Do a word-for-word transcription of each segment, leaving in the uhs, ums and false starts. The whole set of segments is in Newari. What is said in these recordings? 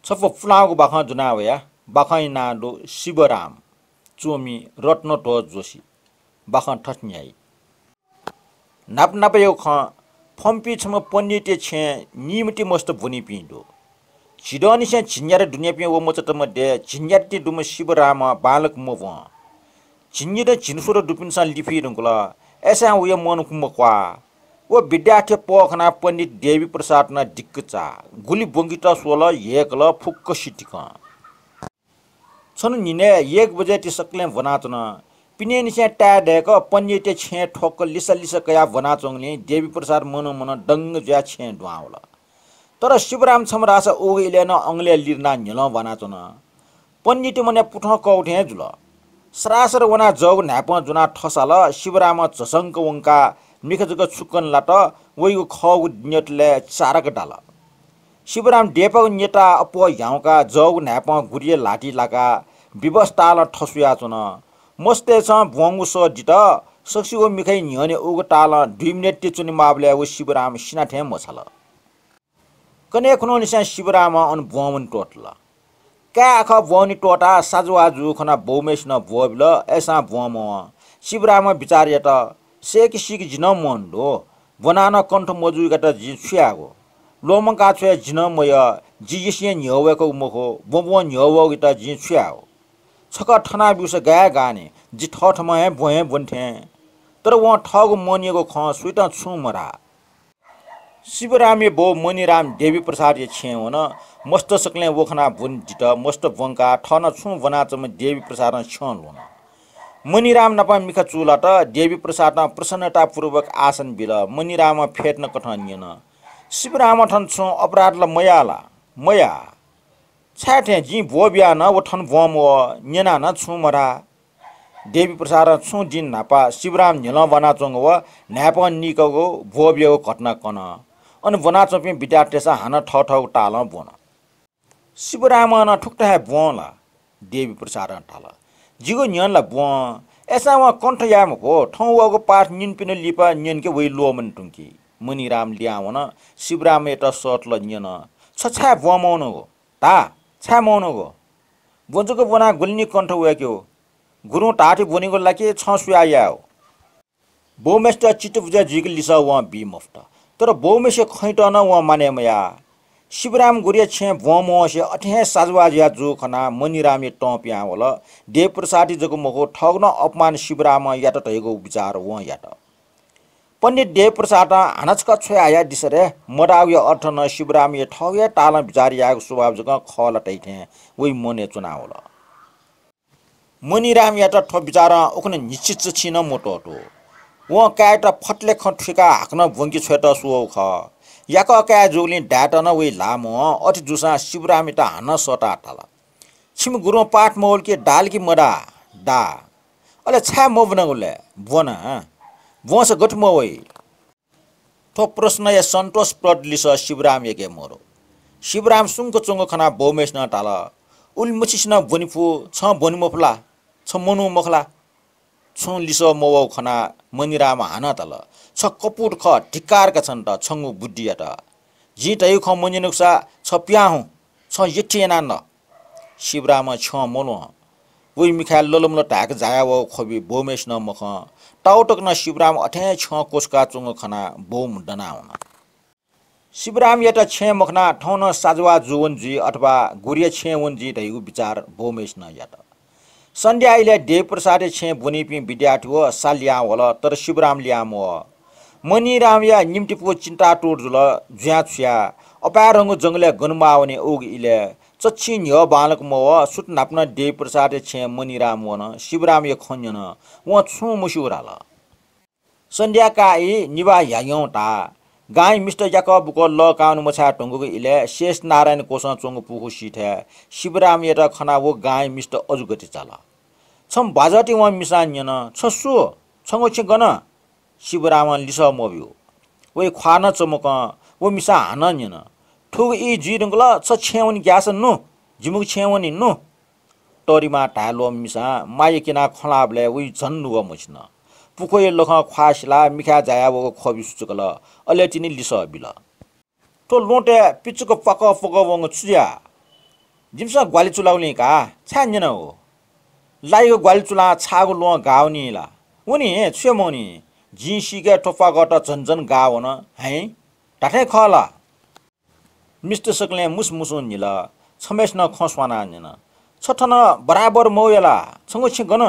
छपु पुलांगु बाखं ज्वना वया। बाखंया नां दु शिवराम। च्वमि रत्नध्वज जोशी। बाखं थथे न्ह्याइ। न्हापन्हापयागु खँ। फ्वंपिं छम्ह पण्डितया छेँय् निम्हति मस्त ब्वनीपिं दु। झिदँनिसें झिंन्यात दुनेपिं व मचातय् मध्ये झिंन्यात दुम्ह शिवराम बांलाक मब्वं। झिंनिदँ झिंस्वदँ दुपिन्सं लिफी धुंकल। अय्‌सां वया मन मक्वाः। व विद्यार्थीया पह खनाः पण्डित देवी प्रसाद नं दिक्क चाः। गुलि ब्वंकेत स्वल, ह्यय्‌कल, फुक्क सितिकं। छन्हु न्हिनय् एक बजे ति सकलें ब्वनाच्वन। पिनेंनिसें ताय् दय्‌क पण्डितया छेँय् थ्वक्क लिसा लिसा कयाः ब्वनाच्वंगुलिं देवी प्रसाद मनं मनं दंग जुयाः छेँय् दुहां वल। तर शिवराम छम्ह धाःसा उगु इलय् नं अंगलय् लिधनाः न्ह्यलं ब्वनाच्वन। पण्डित मनय् पुथं कःगु थें हे जुल। सरासर वनाः जःगु न्हाय्‌पं ज्वनाः थसाल। शिवरामं झसंक वंकाः मिखा जक छुकं लात। वइगु खःगु न्यतलय् चारक दाल। शिवराम देपाःगु न्यताः अप्वः ह्याउँकाः जःगु न्हाय्‌पं गुरिया ल्हातिइ लाकाः विवश तालं थस्वयाच्वन। मस्तय्‌सं ब्वंगु सः दित। सकसिगु मिखाया न्ह्यःने उगु तालं दुई मिनेट ति च्वनेमाःबलय् व शिवराम सिना थें मछाल। कन्हय् खुन्हुंनिसें शिवरामं अन ब्वंवने त्वःतल। काय् आखः ब्वंवने त्वःताः साजवाः जूगु खनाः बौम्हय्‌सिनं ब्वःबिल, अय्‌सां ब्वंमवं। शिवरामं बिचाः यात, सय्‌के सीके जि नं मवने दु। ब्वनाः नं कण्ठ मजूगुयात जिं छु यायेगु? ल्वःमंका छ्वये जि नं मयः, जि यसें न्ह्यः वय्‌कूगु मखु, ब्वंब्वं न्ह्यः वःगुयात जिं छु यायेगु? छकः थना ब्यूसा गाय् गाः नि, जि थःथम्हं हे ब्वं हे ब्वने थें। तर वं थःगु मनयागु खँ सुयातं छुं मधाः। शिवरामया बौ मणिराम देवी प्रसादया छेँय् वन। मस्त सकलें व खनाः ब्वने दित। मस्त ब्वंकाः थः नं छुं ब्वनाच्वंम्ह देवी प्रसादं छ्यं ल्ह्वन। मणिराम नाप मिखा चूलात। देवी प्रसादं प्रसन्नतापूर्वक आसन बिल। मणिरामं फेतनाकथं न्यन, शिवरामं थन छुं अपराध ला मयाः ला? मयाः। छाय् थें जिं ब्वःबियाः नं व थन ब्वंमवः, न्यनाः नं छुं मधाः। देवी प्रसादं छुं दिं न्हापा शिवराम न्ह्यलं ब्वनाच्वंगु व न्हाय्‌पं नीकःगु ब्वःबियागु घटना कन। अन ब्वनाच्वंपिं विद्यार्थीतय्‌सं हानं थःथःगु तालं ब्वन। शिवरामं नं थुकथं हे ब्वं ला? देवी प्रसादं धाल। जिगु न्ह्यःने ला ब्वं। अय्‌सां वं कण्ठ याये मफु। थौं वःगु पाठ न्यनीपिन्त लिपा न्यनेके वइ ल्वःमने धुंकी। मणिराम लिहां वन। शिवरामयात सःतल न्यन, छ छाय् ब्वंमवनागु? धा, छाय् मवनागु? ब्वं जक ब्वनाः गुलि निं कण्ठ वय्‌केगु? गुरुं धाःथें ब्वनीगु ला कि छं सुयाः यायेगु? बौम्हय्‌सित चित्तबुझय् जुइक लिसः वं बी मफुत। तर बौम्हय्‌सिया खँयात नं वं मानय् मयाः। शिवराम गुरुया छेँय् ब्वंमवंसे अथे हे साजवाः जुया जूगु खनाः मणिरामया तं पिहां वल। देवप्रसादया जक मखु, थःगु नं अपमान शिवरामं यात धयागु विचार वं यात। पण्डित देवप्रसादं हानं छकः छ्वया हयादिसँ रे, मधाःगुया अर्थ नं शिवरामया थःगु हे तालं विचार यायेगु स्वभाव जकं खः ला धइथें वइ मनय् च्वनावल। मणिरामयात थ्व विचारं उखुन्हु न्हिच्छि चच्छि नं मत्वःतू। वं काय्‌यात फतले खँ थुइकाः हाकनं ब्वंके छ्वयेत स्वःगु खः। याकः काय् जूगुलिं दायेत नं वइ ल्हाः मवं। अथे जूसां शिवरामयात हानं सःताः धाल, छिमि गुरुं पाठ मवल कि, दाल कि मदाः? दा। अले छाय् मब्वनागु लय्? ब्वना। ब्वंसा गथे मवइ? थ्व प्रश्नया सन्तोषप्रद लिसः शिवरामयाके मदु। शिवराम सुंक च्वंगु खनाः बौम्हय्‌सिनं धाल, उलिमछिसिनं ब्वने फु, छं ब्वने मफु ला? छ मनू मखु ला? छुं लिसः मवःगु खनाः मणिरामं हानं धाल, छ कपुत खः, धिक्कार का छन्त, छंगु बुद्धियात। जिं धयागु खँ मन्यनागुसा छ पिहां हुँ, छं यःथें यानाः न। शिवरामं छ्यं मल्वं। वइ मिखाय् ललमल धाय्‌क जायावःगु ख्वबि बौम्हय्‌सिनं मखं। ताःतक नं शिवराम अथें छ्यं क्वछुका च्वंगु खनाः बौम्ह दनावन। शिवरामयात छेँय् मखनाः थौं नं साजवाः जूवन जुइ अथवा गुरुया छेँय् वन जुइ धइगु विचार बौम्हय्‌सिनं यात। सन्ध्या इलय् देवप्रसादया छेँय् ब्वनीपिं विद्यार्थी व सा लिहां वल, तर शिवराम लिहां मवः। मणिरामया निम्तिपु चिन्तातुर जुल। जुयाः छु याये? अपाय्‌धंगु जंगलय् गन म्वाः वने उगु इलय् चच्छि न्ह्यः बांलाक मवः। सुथ न्हापा नं देवप्रसादया छेँय् मणिराम वन। शिवरामया खँ न्यन। वं छुं मस्यूगु धाल। सन्ध्या काः ई, निभाः ह्याग्यं ताः। गांया मिस्त याकः बुकः लः काः वने मछाये धुंकूगु इलय् शेषनारायण क्वसं च्वंगु पुखू सिथय् शिवरामयात खनाः व गांया मिस्त अजू गति चाल। छम्ह बाजःति वं मिसां न्यन, छ सु? छंगु छेँ गन? शिवरामं लिसः मब्यू। वइ ख्वाः नं चमकं। व मिसां हानं न्यन, थुगु ई जुइ धुंकल, छ छेँय् वने ग्याःसा नु, जिमिगु छेँय् वने नु। तःधिमाः धाये ल्वःम्ह मिसां माया क्यनाः खँ ल्हाःबलय् वइ झन नुगः मछिन। पुखूया लखं ख्वाः सिलाः मिखाय् जायावःगु ख्वबि सुचुकल। अले तिनि लिसः बिल। थ्व ल्वहंतय् पिचुक प्वाकः प्वकः वंगु छु जुयाः? जिमिसं ग्वालि चुलागुलिं का, छाय् न्यन हो? लाइगु ग्वालि चुलां छाःगु ल्वहं गाः वनी ला? वनी, छु हे मवनी? जिं सीके थ्व प्वाकःत झन झन गाः वन हँ। धात्थें खः ला? मिस्त सकलें मुसमुसुं न्हिल। छम्हय्‌सिनं खँ स्वानाः न्यन, छ थन बराबर मवया ला? छंगु छेँ गन?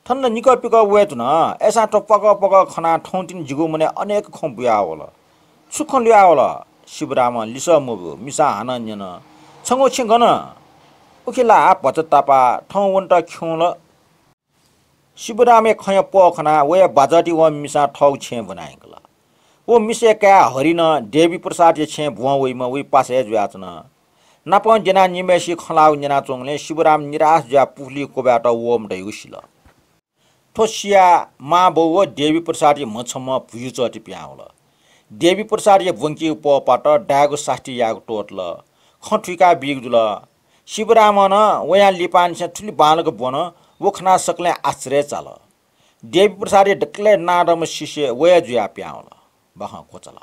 थन ला निकः पिकः वये धुन। अय्‌सां थ्व प्वाकः प्वाकः खनाः थौंतिनि जिगु मनय् अनेक खँ बुयावल। छु खँ लुयावल? शिवरामं लिसः मब्यू मिसां हानं न्यन, छंगु छेँ गन? उखे ला भचा तापाः थौं वनेत खिउँल। शिवरामया खँया पः खनाः वया बाजःति वःम्ह मिसां थःगु छेँ ब्वना यंकल। व मिसाया काय् हरिनं देवी प्रसादया छेँ ब्वं वइम्ह वइ पासा हे जुयाच्वन। नापं द्यनाः निम्हय्‌सिगु खँ ल्हाःगु न्यनाच्वंबलय् शिवराम निराश जुयाः पुखुलिइ क्वब्वायेत वःम्ह धइगु सिल। थ्व सियाः मांबौ व देवी प्रसादया म्ह छम्हं भुइँचःति पिहां वल। देवी प्रसादया ब्वंकीगु पः पात, दायेगु सास्ती यायेगु त्वःतल। खँ थुइका बीगु जुल। शिवरामं नं वयां लिपांनिसें थुलि बांलाक ब्वन, व खनाः सकलें आश्चर्य चाल। देवी प्रसादया दकलय् नांदंम्ह शिष्य व हे जुयाः पिहां वल। बाखं क्वचाल।